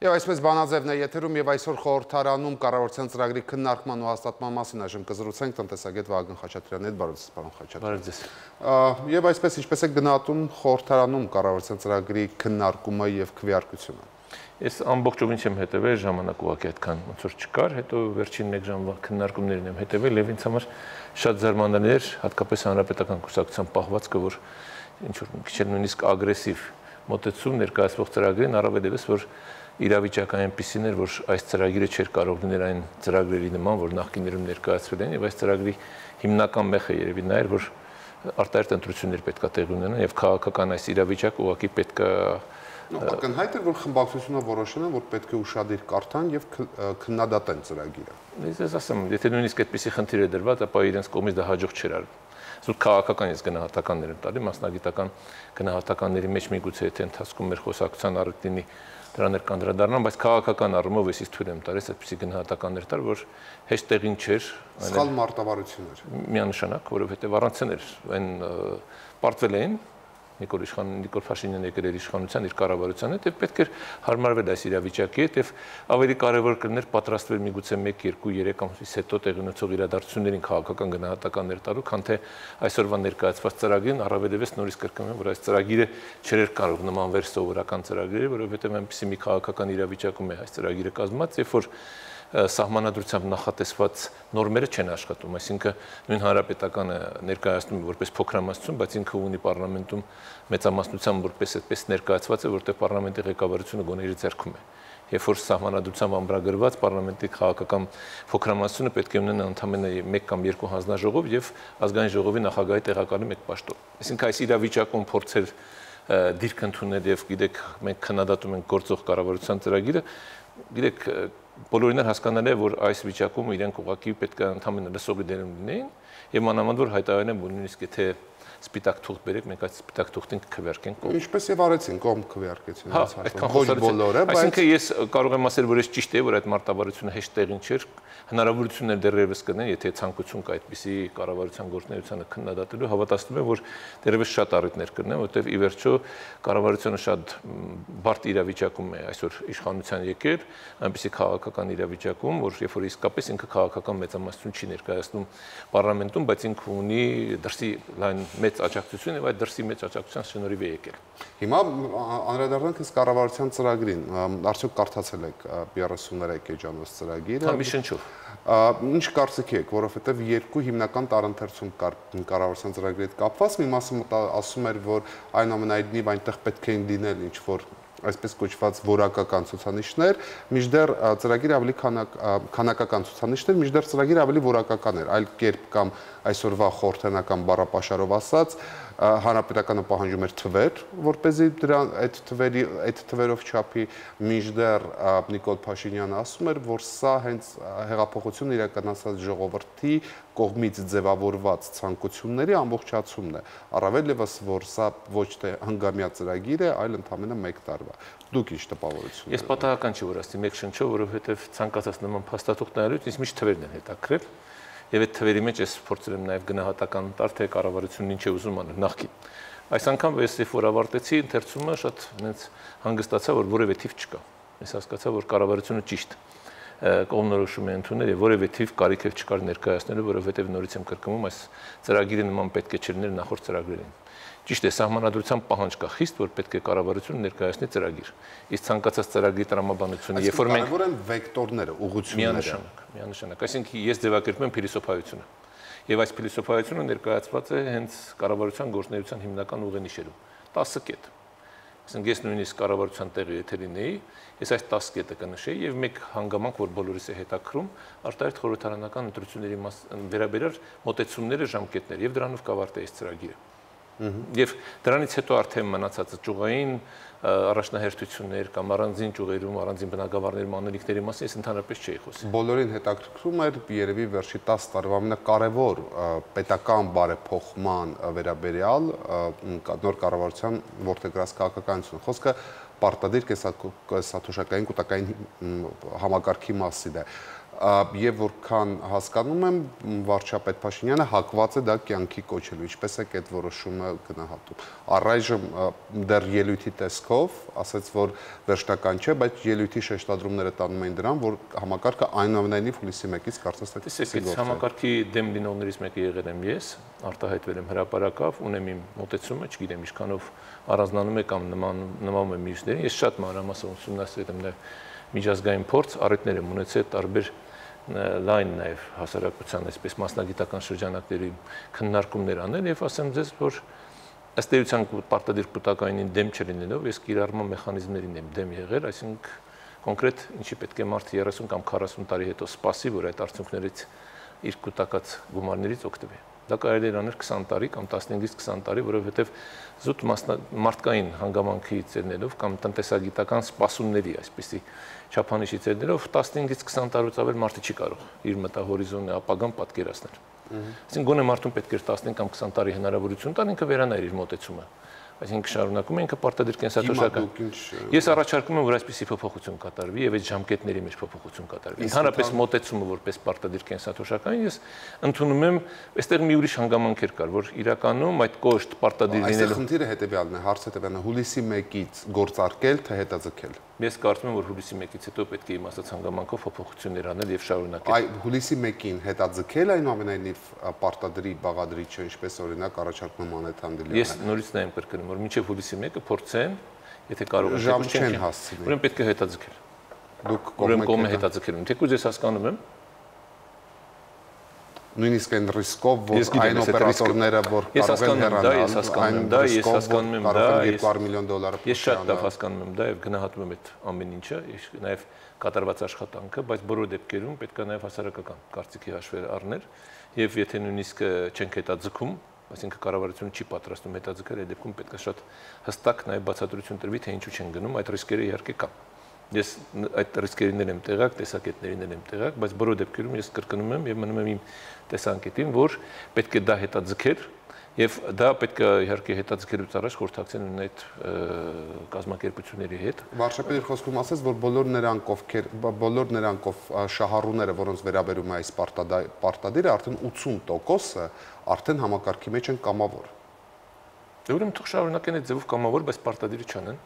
Եվ այսպես Բանաձևն է եթերում եւ այսօր խորհրդարանում կառավարության ծրագրի քննարկման ու հաստատման մասին այժմ կզրուցենք տնտեսագետ Վահագն Խաչատրյանի հետ, բարև ձեզ, պարոն Խաչատրյան։ Եվ այսպես ինչպես եք գնահատում խորհրդարանում կառավարության ծրագրի քննարկումը եւ քվեարկությունը։ Ես ամբողջովին չեմ հետևել, ժամանակ ուղղակի այդքան ոնց որ չկար, հետո վերջին 1 ժամվա քննարկումներն եմ հետևել եւ ինձ համար շատ զարմանալի էր, հատկապես հանրապետական կուսակցության պահվածքը, որ ինչ որ մի քիչ նույնիսկ ագրեսիվ մոտեցում ներկայացվող ծրագրին, առավելևս որ իրավիճակը այնպիսին էր, որ այս ծրագիրը չէր կարող լինել այն ծրագրերի նման, որ նախկիներում ներկայացվել են, եւ այս ծրագրի հիմնական մեխը երևի նա էր, որ արտահերթ ընտրություններ պետք է տեղի ունենան եւ քաղաքական այս իրավիճակը ուղղակի պետք է Ակնհայտ է, որ խմբակցությունը որոշել են, որ պետք է ուշադիր կարդան եւ քննադատեն ծրագիրը։ Ես ասեմ, եթե նույնիսկ այդպիսի խնդիր է դրված, ապա իրենց կողմից դա հաջող չէր արվում։ Զուտ քաղաքական ես գնահատականներ եմ տալի, մասնագիտական գնահատականների մեջ միգուցե եթե ընթացքում մեր խոսակցության առիթ լինի դրաներ կանդրադառնամ, բայց քաղաքական առումով ես թույլ եմ տալիս այդպիսի գնահատականներ տալ, որ հեշտ տեղին չէր։ Սխալ մարտավարություններ։ Միանշանակ, որովհետեւ առանցն էր այն պարտվել էին Նիկոլ Փաշինյանը եկել էր իշխանության իր կառավարության հետ եւ պետք էր հարմարվել այս իրավիճակի հետ եւ ավելի կարեւոր կլիներ պատրաստվել միգուցե 1, 2, 3 ամսից հետո տեղի ունեցող իրադարձություններին քաղաքական գնահատականներ տալու, քան թե այսօրվա ներկայացված ծրագրին, առավելևս նորից կրկնում եմ, որ այս ծրագիրը չէր կարող նմանվեր սովորական ծրագրերի, որովհետեւ այնպեսի մի քաղաքական իրավիճակում է այս ծրագիրը կազմված, երբ որ սահմանադրությամբ նախատեսված նորմերը չեն աշխատում, այսինքն նույն հանրապետականը ներկայացնում է որպես փոքրամասնություն, բայց ինքը ունի պարլամենտում մեծամասնությամբ որպես այդպես ներկայացված է, որտեղ պարլամենտի ղեկավարությունը գոնե իր ձեռքում է։ Երբ որ սահմանադրությամբ ամրագրված պարլամենտի քաղաքական փոքրամասնությունը պետք է ունենա ընդամենը 1 կամ 2 հանձնաժողով եւ ազգային ժողովի նախագահի տեղակալի 1 պաշտոն։ Այսինքն այս իրավիճակում փորձել դիրք ընդունել եւ գիտեք մենք քննադատում ենք գործող կառավարության ծրագիրը, գիտեք բոլորին հասկանալի է, որ այս վիճակում իրենք ուղղակի պետք է ընդհանրապես լսողի դերում լինեին եւ մանավանդ որ հայտարարեն, որ նույնիսկ եթե սպիտակ թուղթ բերեք, մենք այդ սպիտակ թուղթին կքվեարկենք կողմ։ Ինչպես եւ արեցին կողմ քվեարկեցին այս հարցում։ Ոչ բոլորը, բայց այսինքն ես կարող եմ ասել, որ ես ճիշտ է, որ այդ մարտավարությունը հեշտ տեղին չէր, հնարավորություններ դեռևս կնեն, եթե ցանկություն կա այդպիսի կառավարության գործունեությանը քննադատելու, հավատացնում եմ, որ դեռևս շատ առիթներ կնեն, որտեղ ի վերջո կառավարությունը շատ բարդ իրավիճակում է այսօր իշխանության եկել, այնպիսի քաղաքական իրավիճակում, որ երբ որ իսկապես ինքը քաղաքական մեծամասնություն չի ներկայացնում պարլամենտում, բայց ինքը ունի դրսի լայն մեծ աջակցություն եւ այդ դրսի մեծ աջակցության շնորհիվ է եկել։ Հիմա անդրադառնանք ըստ կառավարության ծրագրին, արդյոք կարդացել եք 33 էջանոց ծրագիրը։ Մի շնչով։ Ինչ կարծիք եք, որովհետեւ երկու հիմնական տարընթերցում կար կառավարության ծրագրի հետ կապված, մի մասը ասում էր, որ այնուամենայնիվ այնտեղ պետք է լինել ինչ որ այսպես կոչված որակական ցուցանիշներ, մինչդեռ ծրագիրը ավելի քանակական ցուցանիշներ, մինչդեռ ծրագիրը ավելի որակական էր, այլ կերպ կամ այսօրվա խորհրդանական բառապաշարով ասած, հանրապետականը պահանջում էր թվեր, որպեսզի այդ թվերով չափի, մինչդեռ Նիկոլ Փաշինյանը ասում էր, որ սա հենց հեղափոխություն իրականացած ժողովրդի կողմից ձևավորված ցանկությունների ամբողջացումն է, առավելևս որ սա ոչ թե հնգամյա ծրագիր է, այլ ընդամենը 1 տարվա։ Դուք ինչ տպավորություն։ Ես պատահական չի որ ասի 1 շնչով, որովհետև ցանկացած նման փաստաթուղթ նայելուց ինձ միշտ թվերն են հետաքրել։ Եվ այդ թվերի մեջ ես փորձել եմ նաև գնահատական տալ, թե կառավարությունն ինչ է ուզում անել նախկին։ Այս անգամ ես երբ որ ավարտեցի ընթերցումը, շատ հենց հանգստացա, որ որևէ թիվ չկա։ Ես հասկացա, որ կառավարությունը ճիշտ կողմնորոշում է ընդունել եւ որևէ թիվ կարիք էլ չկար ներկայացնելու, որովհետեւ նորից եմ կրկնում, այս ծրագիրը նման պետք է չլիներ նախորդ ծրագրերին։ Ճիշտ է, սահմանադրության պահանջ կա խիստ, որ պետք է կառավարությունը ներկայացնի ծրագիր։ Իսկ ցանկացած ծրագրի տրամաբանությունը, երբ որ մենք կարևոր են վեկտորները, ուղղությունները։ Միանշանակ, այսինքն ես ձևակերպում եմ փիլիսոփայությունը։ Եվ այս փիլիսոփայությունը ներկայացված է հենց կառավարության գործունեության հիմնական ուղենիշերում 10 կետ։ Այսինքն ես նույնիսկ կառավարության տեղի եթե լինեի, ես այս 10 կետը կնշեի եւ մեկ հանգամանք, որ բոլորիս է հետաքրում, արտահերթ խորհրդարանական ընտրությունների վերաբերյալ մոտեցումները, ժամկետներ եւ դրանով կավարտեի ծրագիրը։ Եվ դրանից հետո արդեն մնացած ճյուղային առաջնահերթություններ կամ առանձին ճյուղերում, առանձին բնակավարներում անելիքների մասին ես ընդհանրապես չէի խոսում։ Բոլորին հետաքրքրում էր երևի վերջի 10 տարվա ամենակարևոր պետական բարեփոխման վերաբերյալ նոր կառավարության որդեգրած քաղաքականությունը։ Խոսքը պարտադիր կենսաթոշակային կൂട്ടակային համակարգի մասին է։ եւ որքան հասկանում եմ, վարչապետ Փաշինյանը հակված է դա կյանքի կոչելու, ինչպես է այդ որոշումը գնահատում։ Առայժմ դեռ ելույթի տեսքով ասաց, որ վերջնական չէ, բայց ելույթի շեշտադրումները տանում են դրան, որ համակարգը այնուամենայնիվ հուլիսի 1-ից կարծես թե Տեսեք, համակարգի դեմ լինողներից մեկը եղել եմ ես, արտահայտվել եմ հրապարակավ, ունեմ իմ մոտեցումը, չգիտեմ ինչքանով առանձնանում է կամ նմանում է մյուսներին։ Ես շատ մանրամասն ուսումնասիրել եմ միջազգային փորձ, առիթներ եմ ունեցել տարբեր լայն նաև հասարակության այսպես մասնագիտական շրջանակների քննարկումներ անել եւ ասեմ ձեզ, որ ըստ էության պարտադիր կուտակայինին դեմ չլինելով, ես կիրառման մեխանիզմներին եմ դեմ եղել, այսինքն կոնկրետ ինչի պետք է մարդը 30 կամ 40 տարի հետո սպասի, որ այդ արդյունքներից իր կուտակած գումարներից օգտվի։ Դա կարելի է անել 20 տարի կամ 15-ից 20 տարի, որովհետև զուտ մարդկային հանգամանքից ելնելով կամ տնտեսագիտական սպասումների այսպիսի չափանիշից ելնելով 15-ից 20 տարուց ավել մարդը չի կարող իր մտահորիզոնի ապագան պատկերացնել։ Այսինքն գոնե մարդուն պետք է 15 կամ 20 տարի հնարավորություն տալ ինքը վերանայր իր մոտեցումը։ Այսինքն շարունակում է ինքը պարտադիր կենսաթոշակական։ Ես առաջարկում եմ, որ այսպիսի փոփոխություն կատարվի եւ այդ ժամկետների մեջ փոփոխություն կատարվի։ Ընդհանրապես մոտեցումը որպես պարտադիր կենսաթոշակային ես ընդունում եմ, այստեղ մի ուրիշ հանգամանքեր կար, որ իրականում այդ կոշտ պարտադիր լինելու։ Այստեղ խնդիրը հետեւյալն է, հարցը հետեւյալն է, հուլիսի 1-ից գործարկել թե հետաձգել։ Ես կարծում եմ, որ հուլիսի 1-ից հետո պետք է իմ ասած հանգամանքով փոփոխություններ անել եւ շարունակել։ Այ հուլիսի 1-ին հետաձգել այնուամենայնիվ պարտադրի բաղադրիչը, ինչպես օրինակ առաջարկում Անետ Հանդիլյանը։ Ես նորից նայեմ կրկնում, որ մինչեւ հուլիսի 1-ը փորձեն, եթե կարող են ժամ չեն հասցնի։ Ուրեմն պետք է հետաձգել։ Դուք կողմը հետաձգել։ Թեկուզ ես հասկանում եմ, նույնիսկ այն ռիսկով, որ այն օպերատորները, որ կարող են հեռանալ, ես հասկանում եմ դա, $200 միլիոն ես շատ լավ հասկանում եմ դա եւ գնահատում եմ այդ ամեն ինչը, նաեւ կատարված աշխատանքը, բայց բոլոր դեպքերում պետք է նաեւ հասարակական կարծիքի հաշվեր առնել եւ եթե նույնիսկ չենք հետաձգում, այսինքն կառավարությունը չի պատրաստում հետաձգել, այդ դեպքում պետք է շատ հստակ նաեւ բացատրություն տրվի, թե ինչու չեն գնում, այդ ռիսկերը իհարկե կան։ Ես այդ ռիսկերին եմ տեղակ, տեսակետներին եմ տեղակ, բայց բոլոր դեպքերում ես կրկնում եմ եւ մնում եմ իմ տեսանկետին, որ պետք է դա հետաձգել եւ դա պետք է իհարկե հետաձգելուց առաջ խորհրդակցել այդ կազմակերպությունների հետ։ Վարչապետի խոսքում ասաց, որ բոլոր նրանքով շահառուները, որոնց վերաբերում է այս պարտադիրը, արդեն 80%-ը արդեն համակարգի մեջ են կամավոր։ Ուրեմն թող շարունակեն այդ ձևով կամավոր, բայց պարտադիրը չանեն։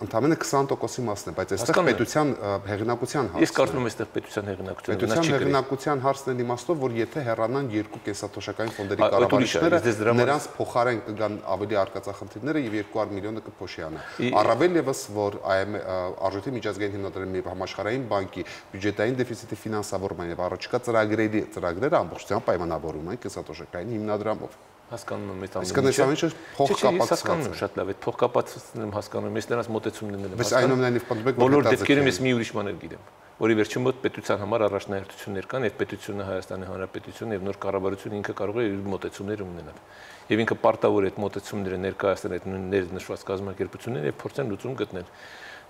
Ընդամենը 20%-ի մասն է, բայց այստեղ պետության հեղինակության հարցն է։ Ես կարծում եմ, այստեղ պետության հեղինակությունը պետության հեղինակության հարցն է իմաստով, որ եթե հեռանան երկու կենսաթոշակային ֆոնդերի կառավարիչները, նրանց փոխարեն կգան ավելի արկածախնդիրները եւ 200 միլիոնը կփոշիանա։ Առավել եւս, որ Արժույթի միջազգային հիմնադրամի համաշխարհային բանկի բյուջետային դեֆիցիտի ֆինանսավորման եւ առաջիկա ծրագրերը ամբողջությամբ պայմանավորում են կենսաթոշակային հիմնադրամով։ Հասկանում եմ այդ ամենը։ Իսկ այս ամենը փոխկապակցված է։ Հասկանում եմ շատ լավ, այդ փոխկապակցությունն եմ հասկանում, ես նրանց մոտեցումներն եմ հասկանում։ Բայց այնուամենայնիվ պատմեք, որ բոլոր դեպքերում ես մի ուրիշ բան գիտեմ, որի վերջին մոտ պետության համար առաջնահերթություններ կան, եւ պետությունը Հայաստանի Հանրապետությունը եւ նոր կառավարությունը ինքը կարող է իր մոտեցումները ունենալ։ Եվ ինքը պարտավոր է այդ մոտեցումները ներկայացնել այդ ներնշված կազմակերպություններին եւ փորձեն լուծում գտնել։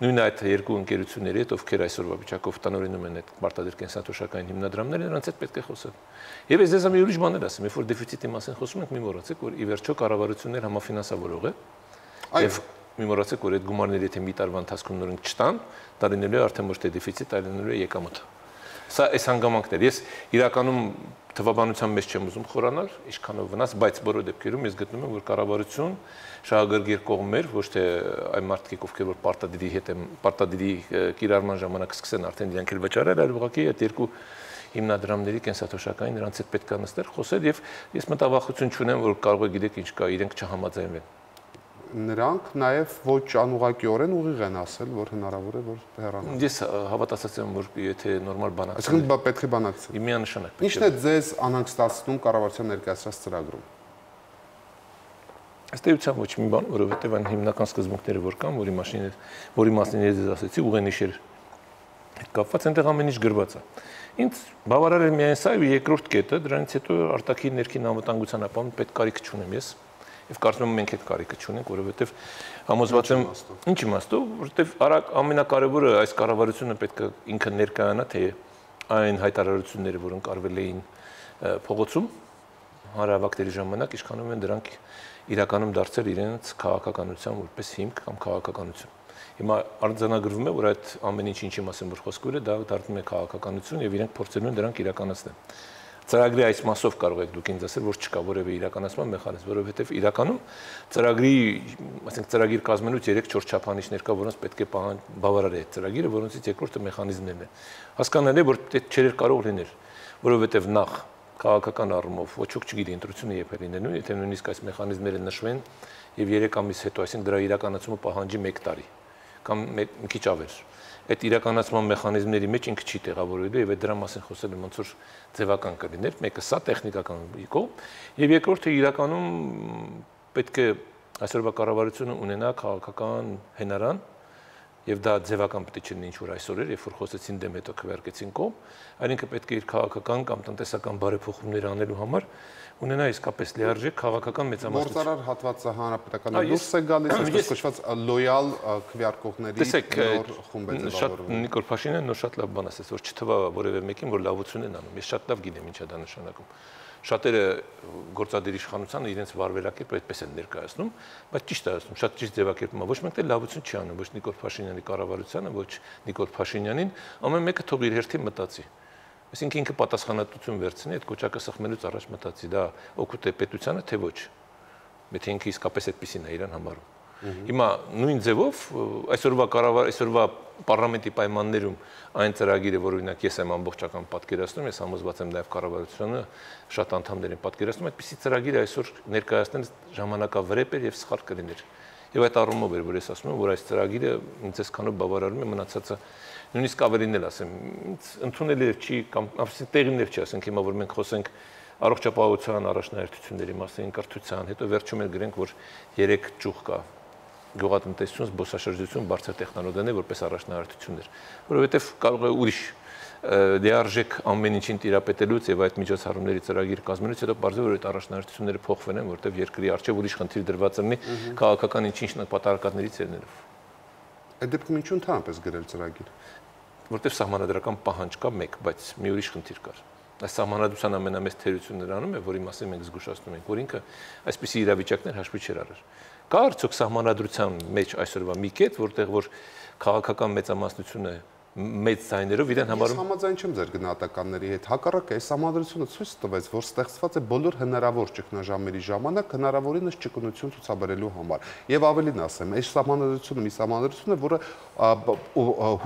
Նույն այդ երկու ընկերությունների հետ, ովքեր այսօրվա վիճակով տնօրինում են այդ պարտադիր կենսաթոշակային հիմնադրամները, նրանց հետ պետք է խոսել։ Եվ ես ձեզ մի ուրիշ բաներ ասեմ, երբ որ դեֆիցիտի մասին խոսում ենք, մի մոռացեք, որ ի վերջո կառավարություններ համաֆինանսավորող է։ Եվ մի մոռացեք, որ այդ գումարները եթե մի տարվա ընթացքում նորենք չտան, դա լինելու է արդեն ոչ թե դեֆիցիտ, այլ լինելու է եկամուտ։ Սա այս հանգամանքներ։ Ես իրականում թվաբանության մեջ չեմ ուզում խորանալ, ինչքանով վնաս, բայց բոլոր դեպքերում ես գտնում եմ, որ կառավարություն շահագրգիռ կողմեր, ոչ թե այն մարդիկ, ովքեր որ պարտադիրի կիրառման ժամանակ սկսեն արդեն իրենք էլ վճարել, այլ ուղղակի այդ երկու հիմնադրամների կենսաթոշակային նրանց հետ պետք է նստել, խոսել եւ ես մտավախություն չունեմ, որ կարող է գիտեք ինչ կա, իրենք չհամաձայնվեն։ Նրանք նաև ոչ անուղղակիորեն ուղիղ են ասել, որ հնարավոր է որ հեռանան։ Ես հավատացած եմ, որ եթե նորմալ բանակցել։ Այսինքն պետք է բանակցել։ Միանշանակ։ Ինչն է ձեզ անհանգստացնում կառավարության ներկայացրած ծրագրում։ Ըստ էության ոչ մի բան, որովհետև այն հիմնական սկզբունքները որ կան, որի մասին ես ձեզ ասեցի, ուղենիշեր կապված այնտեղ ամեն ինչ գրված է։ Ինձ բավարար է միայն սա եւ երկրորդ կետը, դրանից հետո արտաքին ներքին անվտանգության ապահովում պետք կարիք չունեմ ես։ Եվ կարծում եմ մենք այդ կարիքը չունենք, որովհետև համոզված եմ ինչ իմաստով, որովհետև ամենակարևորը այս կառավարությունը պետք է ինքը ներկայանա, թե այն հայտարարությունները, որ ընկալվել էին փողոցում հանրահավաքների ժամանակ, ինչքանով են դրանք իրականում դարձել իրենց քաղաքականության որպես հիմք կամ քաղաքականություն։ Հիմա արձանագրվում է, որ այդ ամեն ինչի մասին որ խոսքուր է, դա դառնում է քաղաքականություն եւ իրենք փորձելու են դրանք իրականացնել։ Ծրագրի այս մասով կարող եք դուք ինձ ասել, որ չկա որևէ իրականացման մեխանիզմ, որովհետեւ իրականում ծրագրի, ասենք ծրագիր կազմելուց 3-4 չափանիշներ կա, որոնց պետք է բավարար է այդ ծրագիրը, որոնցից երկրորդը մեխանիզմներն են։ Հասկանալի է, որ դա չէր կարող լինել, որովհետեւ նախ քաղաքական առումով ոչ ոք չգիտի ընտրությունը երբ է լինելու, եթե նույնիսկ այս մեխանիզմները նշվեն եւ 3 ամիս հետո, այսինքն դրա իրականացումը պահանջի 1 տարի կամ մի քիչ ավել։ Այդ իրականացման մեխանիզմների մեջ ինքը չի տեղավորվելու եւ այդ դրա մասին խոսելը ոնց որ ձևական կլիներ, մեկը սա տեխնիկական կողմ եւ երկրորդը իրականում պետք է այսօրվա կառավարությունը ունենա քաղաքական հենարան եւ դա ձևական պետք է լինի ինչ որ այսօր էր, երբ որ խոսեցին դեմ հետո քվեարկեցին կողմ, այնինքն պետք է իր քաղաքական կամ տնտեսական բարեփոխումներ անելու համար ունենա իսկապես լիարժեք քաղաքական մեծամասնություն։ Գործարար հատվածը հանրապետական դուրս է գալիս, այսպես կոչված լոյալ քվեարկողների նոր խումբ է ձևավորվում։ Նիկոլ Փաշինյանը նոր շատ լավ բան ասաց, որ չթվա որևէ մեկին, որ լավություն են անում։ Ես շատ լավ գիտեմ ինչ է դա նշանակում։ Շատերը գործադիր իշխանությանը իրենց վարվելակերպը այդպես են ներկայացնում, բայց ճիշտ է ասում, շատ ճիշտ ձևակերպում է։ Ոչ մեկ լավություն չի անում, ոչ Նիկոլ Փաշինյանի կառավարությանը, ոչ Նիկոլ Փաշինյանին, ամեն մեկը թող իր հերթին մտածի։ Այսինքն ինքը պատասխանատվություն վերցնի, այդ կոճակը սխմելուց առաջ մտածի, դա օգուտ է պետությանը, թե ոչ։ Եթե ինքը իսկապես այդպեսին է իրան համարում։ Հիմա նույն ձևով այսօրվա պարլամենտի պայմաններում այն ծրագիրը, որ օրինակ ես եմ ամբողջական պատկերացնում, ես համոզված եմ նաև կառավարությունը շատ անդամներ են պատկերացնում, այդպիսի ծրագիրը այսօր ներկայացնել ժամանակավրեպ էր եւ սխալ կլիներ։ Եվ այդ առումով էր, որ ես ասում եմ, որ այս ծրագիրը ինձ այսքանով բավարարում է, մնացածը նույնիսկ ավելին էլ ասեմ, ընդունելի չի կամ տեղին չի, ասենք հիմա որ մենք խոսենք առողջապահության առաջնահերթությունների մասին, կրթության, հետո վերջում էլ գրենք, որ 3 ճյուղ կա գյուղատնտեսություն, զբոսաշրջություն, բարձր տեխնոլոգիաներ որպես առաջնահերթություններ, որովհետև կարող է ուրիշ լիարժեք ամեն ինչին տիրապետելուց եւ այդ միջոցառումների ծրագիր կազմելուց հետո բարձր որ այդ առաջնահերթությունները փոխվել են, որովհետև երկրի արժեվ ուրիշ խնդիր դրված լինի քաղաքական ինչ-ինչ նպատակներից ելնելով։ Այդ դեպքում ինչու ընդհանրապես գրել ծրագիր։ Որովհետև սահմանադրական պահանջ կա մեկ, բայց մի ուրիշ խնդիր կար։ Այս սահմանադրության ամենամեծ թերությունն անում է, որի մասին մենք զգուշացնում ենք, որ ինքը այսպիսի իրավիճակներ հաշվի չէր արել։ Կա արդյոք սահմանադրության մեջ այսօրվա մի կետ, որտեղ որ քաղաքական մեծամասնությունը մեծ ձայներով իրեն համարում։ Ես համաձայն չեմ ձեր գնահատականների հետ։ Հակառակը, այս համադրությունը ցույց տվեց, որ ստեղծված է բոլոր հնարավոր ճգնաժամերի ժամանակ հնարավորինս ճկունություն ցուցաբերելու համար։ Եվ ավելին ասեմ, այս համադրությունը մի համադրություն է, որը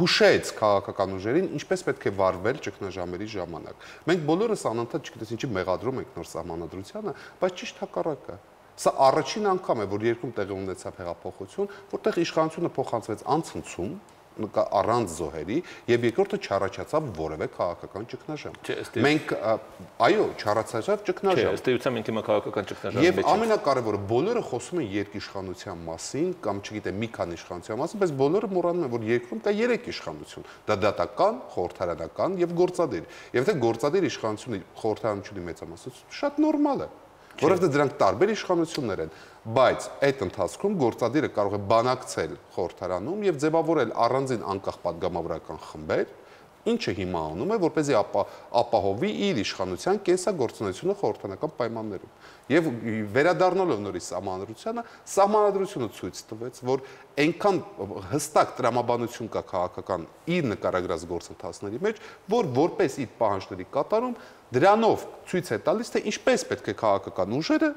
հուշեց քաղաքական ուժերին, ինչպես պետք է վարվել ճգնաժամերի ժամանակ։ Մենք բոլորս անընդհատ չգիտես ինչի մեղադրում ենք նոր համադրությանը, բայց ճիշտ հակառակը։ Սա առաջին անգամ է, որ երկրում տեղի ունեցավ հեղափոխություն, որտեղ իշխանությունը փոխանցվեց անցնցում առանց զոհերի եւ երկրորդը չառաջացավ որևէ քաղաքական ճգնաժամ։ Մենք այո, չառաջացավ ճգնաժամ։ Չէ, ըստ էության մենք հիմա քաղաքական ճգնաժամի մեջ ենք։ Եվ ամենակարևորը բոլորը խոսում են երկիշխանության մասին կամ չգիտեմ մի քանի իշխանության մասին, բայց բոլորը մոռանում են, որ երկրում կա 3 իշխանություն՝ դա դատական, խորհրդարանական եւ գործադիր։ Եվ թե գործադիր իշխանությունը խորհրդարանությունի մեծամասնություն շատ նորմալ է։ Որովհետև դրանք տարբեր իշխանություններ են, բայց այդ ընթացքում գործադիրը կարող է բանակցել խորհրդարանում եւ ձևավորել առանձին անկախ падգամավորական խմբեր, ինչը հիմա անում է, որպեսզի ապահովի իր իշխանության կենսագործունեությունը խորհրդարանական պայմաններում։ Եվ վերադառնալով նորից սահմանադրությունը ցույց տվեց, որ այնքան հստակ տրամաբանություն կա քաղաքական իր նկարագրած գործընթացների մեջ, որ որպես իր պահանջների կատարում դրանով ցույց է տալիս, թե ինչպես պետք է քաղաքական ուժերը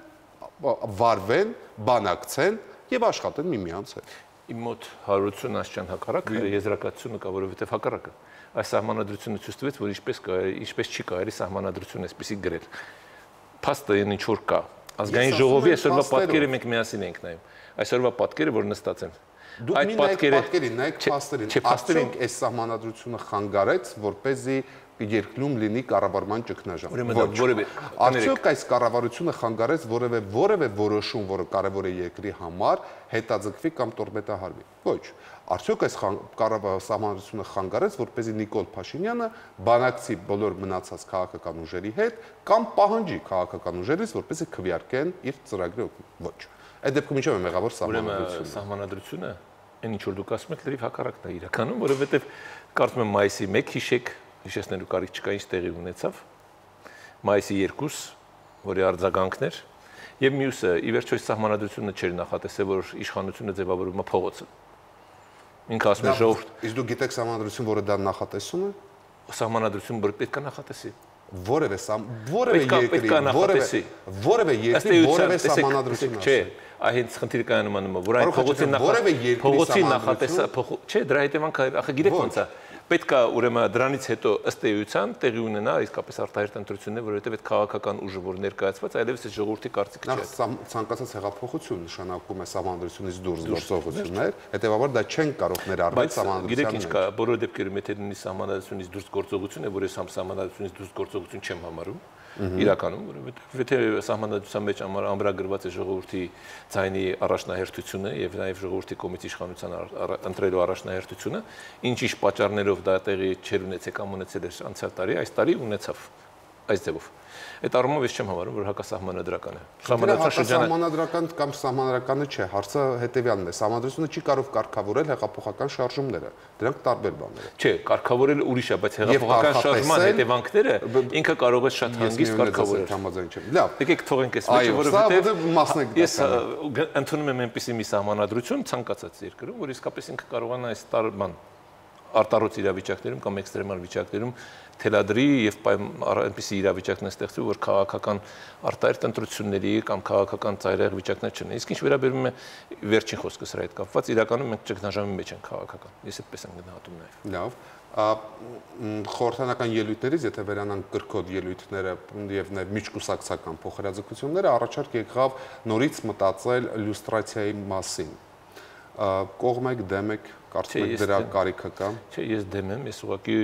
վարվեն, բանակցեն եւ աշխատեն միմյանց հետ։ Իմ մոտ հարություն ասչան հակառակ եզրակացությունը կա, որովհետեւ հակառակը այս սահմանադրությունը ցույց տվեց, որ ինչպես չի կարելի սահմանադրությունը այսպեսի գրել։ Փաստը ինչ որ կա։ Ազգային ժողովի այսօրվա պատկերը մենք միասին ենք նայում։ Այսօրվա պատկերը, որ նստած են։ Այդ պատկերին նայեք փաստերին։ Արդյոք այս սահմանադրությունը խանգարեց, որպեսզի երկրում լինի կառավարման ճգնաժամ։ Արդյոք այս կառավարությունը խանգարեց որևէ որոշում, որը կարևոր է երկրի համար, հետաձգվի կամ տորպեդահարվի։ Ոչ։ Արդյոք այս սահմանադրությունը խանգարեց, որպեսզի Նիկոլ Փաշինյանը բանակցի բոլոր մնացած քաղաքական ուժերի հետ կամ պահանջի քաղաքական ուժերից, որպեսզի քվեարկեն իր ծրագրի օգնությամբ։ Ոչ։ Այդ դեպքում ինչով է մեղավոր սահմանադրությունը։ Սահմանադրությունը, այն ինչ որ դուք ասում եք, լրիվ հակառակն է իրականում, որովհետև կարծում եմ մայիսի 1 հիշեք հիշեցնելու կարիք չկա, ինչ տեղի ունեցավ մայիսի 2, որի արձագանքն էր, եւ մյուսը ի վերջո սահմանադրությունը չէր նախատեսել, որ իշխանությունը ձևավորվում է փողոցը։ Ինքը ասում է ժողովուրդ։ Իսկ դու գիտեք սահմանադրություն, որը դա նախատեսում է։ Սահմանադրություն, որ պետք է նախատեսի։ Որևէ երկրի որևէ սահմանադրություն չէ, այնց խնդիրը կայանում է, որ այն փողոցի նախատեսա, չէ, դրա հետևանքը ախը գիտեք ոնց է։ Պետք է ուրեմն դրանից հետո ըստ էության տեղի ունենա իսկապես արտահերթ ընտրություններ, որովհետև այդ քաղաքական ուժը, որ ներկայացված, այլևս է ժողովրդի կարծիքը չէ։ Ցանկացած հեղափոխություն նշանակում է սահմանադրությունից դուրս գործողություններ, հետևաբար դա չեն կարող ներառվել սահմանադրության մեջ։ Գիտեք ինչ կա, բոլոր դեպքերում եթե լինի սահմանադրությունից դուրս գործողություն է, որ ես սահմանադրությունից դուրս գործողություն չեմ համարում, իրականում, որովհետև եթե սահմանադրության մեջ ամրագրված է ժողովրդի ձայնի առաջնահերթությունը եւ նաեւ ժողովրդի կողմից իշխանության ընտրելու առաջնահերթությունը, ինչ-ինչ պատճառներով դա տեղի չեր ունեցել կամ ունեցել էր անցյալ տարի, այս տարի ունեցավ այս ձևով։ Այդ առումով ես չեմ համարում, որ հակասահմանադրական է։ Սահմանադրական կամ սահմանադրականը չէ, հարցը հետեւյալն է, սահմանադրությունը չի կարող կարգավորել հեղափոխական շարժումները, դրանք տարբեր բաներ են։ Չէ, կարգավորել ուրիշ է, բայց հեղափոխական շարժման հետևանքները ինքը կարող է շատ հանգիստ կարգավորել։ Համաձայն չեմ։ Լավ։ Եկեք թողենք այս մեջը, որովհետեւ ես ընդունում եմ այնպիսի մի սահմանադրություն ցանկացած երկրում, որ իսկապես ինքը կարողանա այս տարբան արտարոց իրավիճակներում կամ էքստրեմալ վիճակներում թելադրի եւ այնպիսի իրավիճակներ ստեղծի, որ քաղաքական արտահերթ ընտրությունների կամ քաղաքական ծայրահեղ վիճակներ չունեն։ Իսկ ինչ վերաբերում է վերջին խոսքս հրա հետ կապված, իրականում մենք ճգնաժամի մեջ ենք քաղաքական։ Ես այդպես եմ գնահատում նաեւ։ Լավ։ Խորհրդանական ելույթներից, եթե վերանանք կրկոտ ելույթները եւ նաեւ միջկուսակցական փոխհրաձգությունները, առաջարկ եկավ նորից մտածել լյուստրացիայի մասին։ Կողմ եք, դեմ եք, կարծում եք դրա կարիքը կա։ Չէ, ես դեմ եմ, ես ուղղակի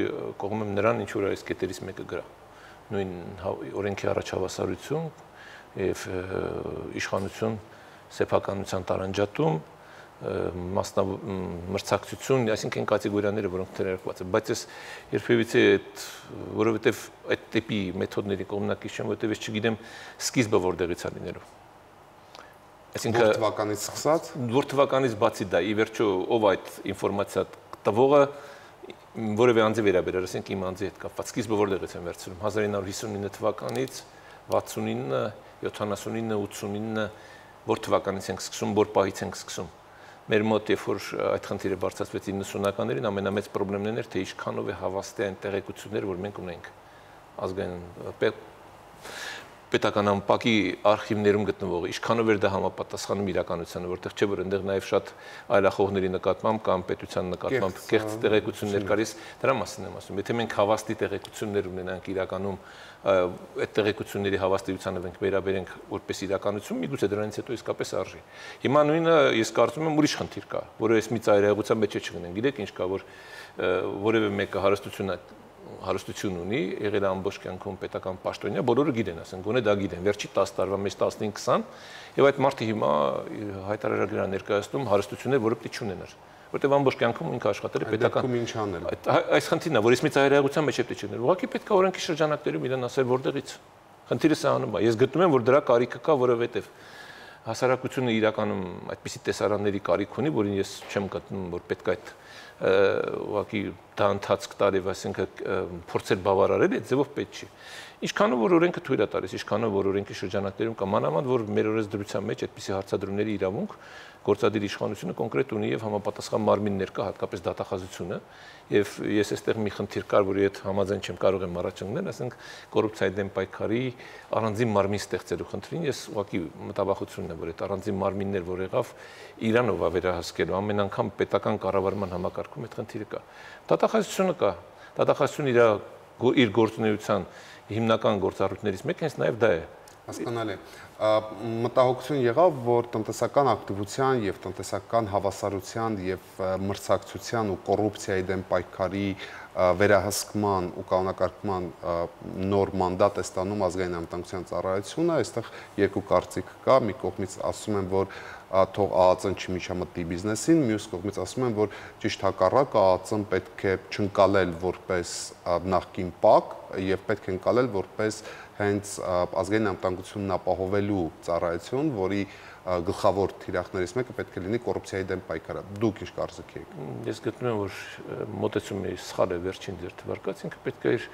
կողմ եմ նրան, ինչ որ այս կետերից մեկը գրա։ Նույն օրենքի առաջավասարություն եւ իշխանություն սեփականության տարանջատում, մրցակցություն, այսինքն կատեգորիաները, որոնք ներկայացված են, բայց ես երբևիցե այդ, որովհետեւ այդ տիպի մեթոդների կողմնակից չեմ, որովհետեւ ես չգիտեմ սկիզբը որտեղից է լինելու։ Այսինքն որ թվականից սկսած, որ թվականից բացի դա, ի վերջո ով այդ ինֆորմացիա տվողը որևէ անձի վերաբերել, ասենք իմ անձի հետ կապված, սկիզբը որտեղից են վերցնում 1959 թվականից, 69, 79, 89, որ թվականից ենք սկսում, որ պահից ենք սկսում։ Մեր մոտ երբ որ այդ խնդիրը բարձրացվեց 90-ականներին, ամենամեծ խնդիրն էր, թե ինչքանով է հավաստի այն տեղեկությունները, որ մենք ունենք ազգային պետական ամպակի արխիվներում գտնվող, ինչքանով էր դա համապատասխանում իրականությանը, որտեղ չէ որ այնտեղ նաև շատ այլախոհների նկատմամբ կամ պետության նկատմամբ կեղծ տեղեկություններ կարից, դրա մասին եմ ասում։ Եթե մենք հավաստի տեղեկություններ ունենանք իրականում, այդ տեղեկությունների հավաստիությանը մենք վերաբերենք որպես իրականություն, միգուցե դրանից հետո իսկապես արժի։ Հիմա նույնը ես կարծում եմ ուրիշ խնդիր կա, որը ես մի ծայրահեղության մեջ չգնեն։ Գիտեք ինչ կա, որ որևէ մեկը հարստություն ունի, եղել է ամբողջ կյանքում պետական պաշտոնյա, բոլորը գիտեն, ասենք, գոնե դա գիտեն, վերջի 10 տարվա մեջ 15-20, եւ այդ մարդը հիմա հայտարարագրա ներկայացնում հարստություններ, որը պետք չունենար, որտեղ ամբողջ կյանքում ինքը աշխատել է պետական։ Ինչ անել։ Այս խնդիրն է, որ ես մի ծայրահեղության մեջ պետք չգներ։ Ուղղակի պետք է օրենքի շրջանակներում իրեն ասել որտեղից։ Խնդիրը սահանում է։ Ես գտնում եմ, որ դրա կարիքը կա, որովհետեւ հասարակությունը իրականում այդպիսի տեսարանների կարիք ունի, որին ես չեմ գտնում, որ պետք է այդ ուղղակի դա ընթացք տալ եւ այսինքն փորձել բավարարել, այդ ձևով պետք չի։ Ինչքանով որ օրենքը թույլ է տալիս, ինչքանով որ օրենքի շրջանակներում կա մանավանդ որ մեր օրենսդրության մեջ այդպիսի հարցադրումների իրավունք գործադիր իշխանությունը կոնկրետ ունի եւ համապատասխան մարմիններ կա, հատկապես դատախազությունը, եւ ես այստեղ մի խնդիր կար, որի հետ համաձայն չեմ կարող եմ առաջ ընկնել, ասենք կոռուպցիայի դեմ պայքարի առանձին մարմին ստեղծելու խնդրին, ես ուղղակի մտավախությունն է, որ այդ առանձին մարմիններ, որ եղավ Իրանով վերահսկելու, ամեն անգամ պետական կառավարման համակարգում այդ խնդիրը կա։ Դատախազությունը կա, դատախազությունը իր գործունեության հիմնական գործառույթներից մեկը հենց նաև դա է։ Հասկանալի։ Մտահոգություն եղավ, որ տնտեսական ակտիվության եւ տնտեսական հավասարության եւ մրցակցության ու կոռուպցիայի դեմ պայքարի վերահսկման ու կանոնակարգման նոր մանդատ է ստանում ազգային անվտանգության ծառայությունը, այստեղ երկու կարծիք կա, մի կողմից ասում են, որ թող ԱԱԾ-ն չմիջամտնի բիզնեսին, մյուս կողմից ասում են, որ ճիշտ հակառակը ԱԱԾ-ն պետք է չընկալել որպես նախկին ՊԱԿ, եւ պետք են կալել որպես հենց ազգային անվտանգությունն ապահովելու ծառայություն, որի գլխավոր թիրախներից մեկը պետք է լինի կոռուպցիայի դեմ պայքարը։ Դուք ինչ կարծիք եք։ Ես գտնում եմ, որ մոտեցումի սխալ է վերջին ձեր թվարկած, ինքը պետք է իր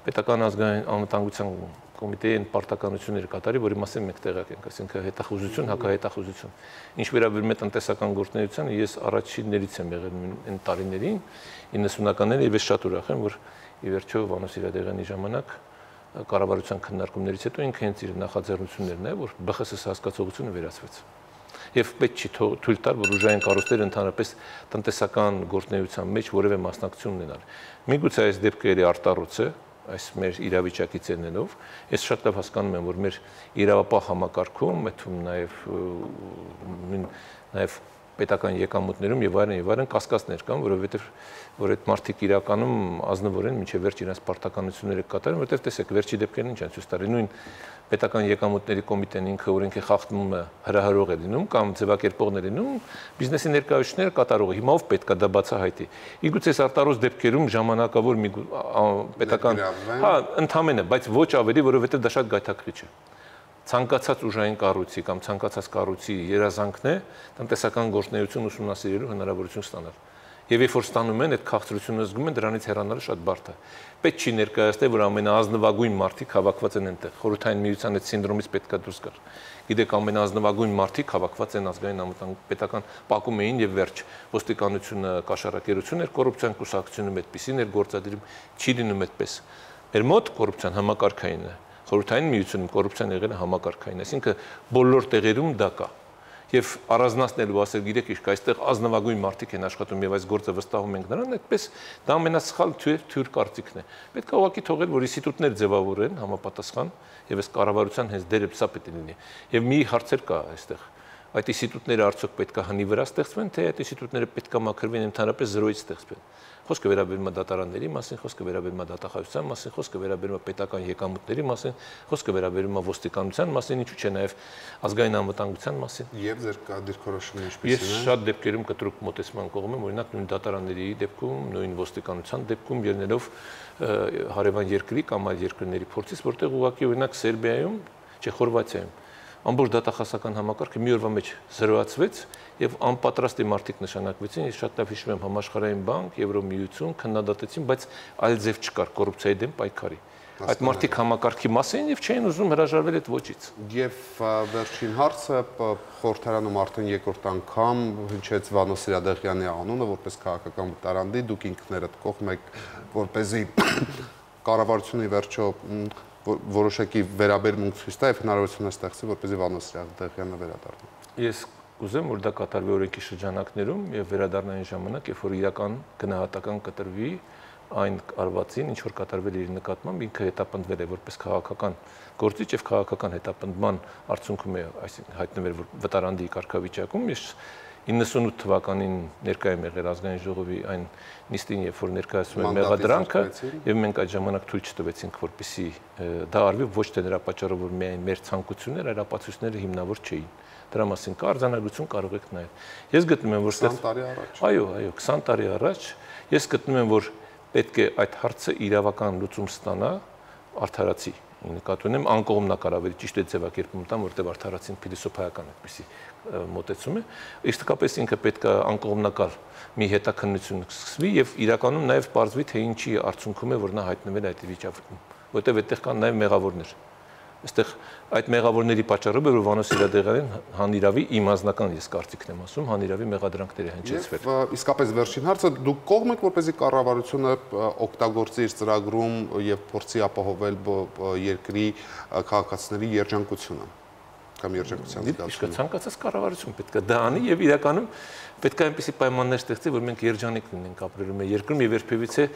պետական ազգային անվտանգության կոմիտեին պարտականություններ կատարի, որի մասին մենք տեղյակ ենք, այսինքն հետախուզություն, հակահետախուզություն։ Ինչ վերաբերում է տնտեսական գործունեությանը, ես առաջիններից եմ եղել այն տարիներին 90-ականներին եւ ես շատ ուրախ եմ, որ ի վերջո Վանո Սիրադեղյանի ժամանակ կառավարության քննարկումներից հետո ինքը հենց իր նախաձեռնություններն է, որ ԲԽՍ հասկացողությունը վերացվեց։ Եվ պետք չի թույլ տալ, որ ուժային կառույցները ընդհանրապես տնտեսական գործունեության մեջ որևէ մասնակցություն ունենան։ Միգուցե այս դեպքը էլի արտառոց է, այս մեր իրավիճակից ելնելով, ես շատ լավ հասկանում եմ, որ մեր իրավապահ համակարգում, այդում նաև պետական եկամուտներում եւ այլն կասկածներ կան, որովհետեւ որ այդ մարդիկ իրականում ազնվորեն մինչեւ վերջ իրենց պարտականությունները կատարեն, որովհետեւ տեսեք, վերջի դեպքերն ինչ են ցույց տալի, նույն պետական եկամուտների կոմիտեն ինքը օրենքի խախտումը հրահրող է լինում կամ ձևակերպողն է լինում, բիզնեսի ներկայացուցիչները կատարողը։ Հիմա ով պետք է դա բացահայտի։ Իգուցե արտարոց դեպքերում ժամանակավոր մի պետական, ընդհանրապես, բայց ոչ ավելի, որովհետեւ դա շատ գայթակղիչ է։ Ցանկացած ուժային կառույցի կամ ցանկացած կառույցի երազանքն է տնտեսական գործունեություն ուսումնասիրելու հնարավորություն ստանալ։ Եվ երբ որ ստանում են, այդ քաղցրությունը զգում են, դրանից հեռանալը շատ բարդ է։ Պետք չի ներկայացնել, որ ամենաազնվագույն մարդիկ հավաքված են այնտեղ։ Խորհրդային միության այդ սինդրոմից պետք է դուրս գալ։ Գիտեք, ամենաազնվագույն մարդիկ հավաքված են ազգային անվտանգության պետական պակում էին եւ վերջ։ Ոստիկանությունը կաշառակերություն էր, կոռուպցիան կուսակցությունում այդպեսին էր գործադրում, չի լինում այդպես։ Մեր մոտ կոռուպցիան համակարգային է։ Խորհրդային միությունում կոռուպցիան եղել է համակարգային, այսինքն բոլոր տեղերում դա կա։ Եվ առանձնացնելու ասել, գիտեք, իսկ այստեղ ազնվագույն մարդիկ են աշխատում եւ այս գործը վստահում ենք նրան, այդպես դա ամենասխալ թյուր կարծիքն է։ Պետք է ուղղակի թողել, որ ինստիտուտներ ձևավորեն համապատասխան եւ այս կառավարության հենց դերը սա պետք է լինի։ Եվ մի հարցեր կա այստեղ։ Այդ ինստիտուտները արդյոք պետք է հնի վրա ստեղծվեն, թե այդ ինստիտուտները պետք է մաքրվեն ընդհանրապես զրոյից ստեղծվեն։ Խոսքը վերաբերում է դատարանների մասին, խոսքը վերաբերում է դատախազության մասին, խոսքը վերաբերում է պետական եկամուտների մասին, խոսքը վերաբերում է ոստիկանության մասին, ինչու՞ չէ նաև ազգային անվտանգության մասին։ Եվ ձեր դիրքորոշումն ինչպես է։ Ես շատ դեպքերում կտրուկ մոտեցման կողմ եմ, օրինակ նույն դատարանների դեպքում, նույն ոստիկանության դեպքում ելնելով հարևան երկրի կամ այլ երկրների փորձից, որտեղ ուղղակի օրինակ Սերբիայում, չէ, Խորվաթիայում ամբողջ դատախազական համակարգը մի օրվա մեջ զրոացվեց եւ անպատրաստի մարդիկ նշանակվեցին։ Ես շատ լավ հիշում եմ Համաշխարհային բանկ, Եվրոմիություն քննադատեցին, բայց այլ ձև չկար կոռուպցիայի դեմ պայքարի։ Այդ մարդիկ համակարգի մաս էին եւ չէին ուզում հրաժարվել այդ ոճից։ Եվ վերջին հարցը խորհրդարանում արդեն երկրորդ անգամ հնչեց Վանո Սիրադեղյանի անունը որպես քաղաքական վտարանդի, դուք ինքներդ կողմ եք, որպեսզի կառավարությունը վերջո որոշակի վերաբերմունք ցույց տա եւ հնարավորություն ստեղծի, որպեսզի Վանո Սիրադեղյանը վերադառնա։ Ես կուզեմ, որ դա կատարվի օրենքի շրջանակներում եւ վերադառնային ժամանակ, երբ որ իրական գնահատական կտրվի այն արվածին, ինչ որ կատարվել իր նկատմամբ, ինքը հետապնդվել է որպես քաղաքական գործիչ եւ քաղաքական հետապնդման արդյունքում է, այսինքն հայտնվել որ վտարանդի կարգավիճակում։ Ես 98 թվականին ներկայ եմ եղել ազգային ժողովի այն նիստին, երբ որ ներկայացում են մեղադրանքը, եւ մենք այդ ժամանակ թույլ չտվեցինք, որպեսզի դա արվի ոչ թե նրա պատճառով, որ միայն մեր ցանկությունները, այլ ապացույցները հիմնավոր չէին։ Դրա մասին կա արձանագրություն, կարող եք նայել։ Ես գտնում եմ, որ 20 տարի առաջ։ Այո, 20 տարի առաջ ես գտնում եմ, որ պետք է այդ հարցը իրավական լուծում ստանա արդարացի։ Նկատի ունեմ անկողմնակար ավելի ճիշտ է ձևակերպում տամ, որտեղ արդարացին փիլիսոփայական այդպեսի մոտեցում է։ Իսկապես ինքը պետք է անկողմնակար մի հետաքննություն սկսվի եւ իրականում նաեւ բարձվի թե ինչի արդյունքում է որ նա հայտնվել այդ վիճակում, որտեղ այդտեղ կան նաեւ մեղավորներ։ Այստեղ այդ մեղավորների պատճառով որ Վանո Սիրադեղյանին հանիրավի իմ անձնական ես կարծիքն եմ ասում, հանիրավի մեղադրանքներ է հնչեցվել։ Իսկապես վերջին հարցը դուք կողմ եք որպեսզի կառավարությունը օգտագործի իր ծրագրում եւ փորձի ապահովել երկրի քաղաքացիների երջանկությունը կամ երջանկության զգացումը։ Ցանկացած կառավարություն պետք է դա անի եւ իրականում պետք է այնպիսի պայմաններ ստեղծի, որ մենք երջանիկ լինենք ապրելու մեր երկրում եւ երբևիցե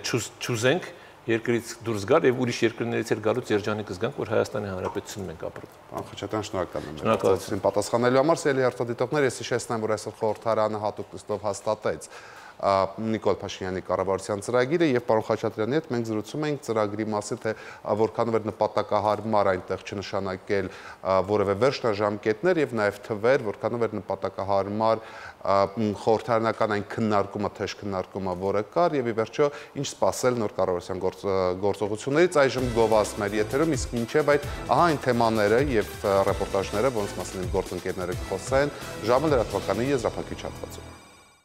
չուզենք երկրից դուրս գալ եւ ուրիշ երկրներից էլ գալուց երջանիկ զգանք, որ Հայաստանի Հանրապետությունում ենք ապրում։ Պարոն Խաչատրյան, շնորհակալ եմ։ Շնորհակալություն պատասխանելու համար, սիրելի հերթադիտողներ, ես հիշեցնեմ, որ այսօր խորհրդարանը հատուկ նիստով հաստատեց Նիկոլ Փաշինյանի կառավարության ծրագիրը եւ պարոն Խաչատրյանի հետ մենք զրուցում ենք ծրագրի մասին, թե որքանով էր նպատակահարմար այնտեղ չնշանակել որևէ վերջնաժամկետներ եւ նաեւ թվեր, որքանով էր նպատակահարմար խորհրդարանական այն քննարկումը, թեժ քննարկումը, որը կար եւ ի վերջո ինչ սպասել նոր կառավարության գործողություններից այժմ գովազդ մեր եթերում, իսկ մինչեւ այդ ահա այն թեմաները եւ ռեպորտաժները, որոնց մասին գործընկերները կխոսեն ժամը լրատվականի եզրափակիչ հատվածում։